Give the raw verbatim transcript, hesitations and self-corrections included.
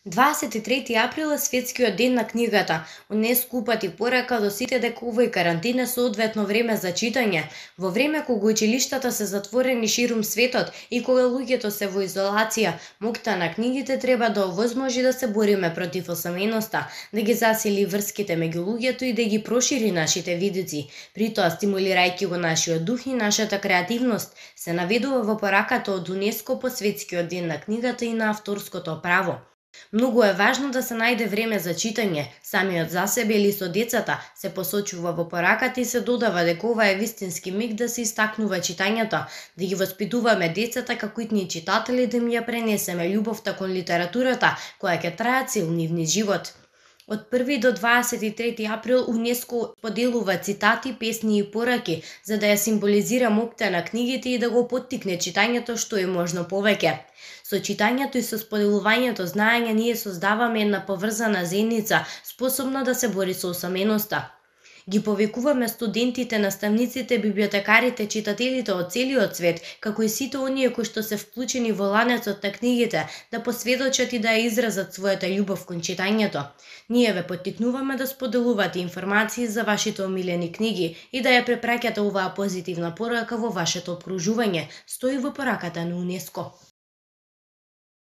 дваесет и трети април е светскиот ден на книгата. УНЕСКО упати порака до сите дека овој карантин е соодветно време за читање. Во време кога училиштата се затворени ширум светот и кога луѓето се во изолација, моќта на книгите треба да овозможи да се бориме против осаменоста, да ги засили врските меѓу луѓето и да ги прошири нашите видици, при тоа стимулирајќи го нашиот дух и нашата креативност, се наведува во пораката од УНЕСКО по светскиот ден на книгата и на авторското право. Многу е важно да се најде време за читање, самиот за себе или со децата, се посочува во пораката и се додава дека ова е вистински миг да се истакнува читањето, да ги воспитуваме децата како итни читатели, да им ја пренесеме љубовта кон литературата, која ќе трае цел нивниот живот. Од први до дваесет и трети април УНЕСКО поделува цитати, песни и пораки за да ја символизира моќта на книгите и да го поттикне читањето што е можно повеќе. Со читањето и со споделувањето знаење ние создаваме една поврзана заедница, способна да се бори со осаменоста. Ги повикуваме студентите, наставниците, библиотекарите, читателите од целиот свет, како и сите оние кои што се вклучени во ланецот на книгите, да посведочат и да ја изразат својата љубов кон читањето. Ние ве поттикнуваме да споделувате информации за вашите омилени книги и да ја препраќате оваа позитивна порака во вашето окружување, стои во пораката на УНЕСКО.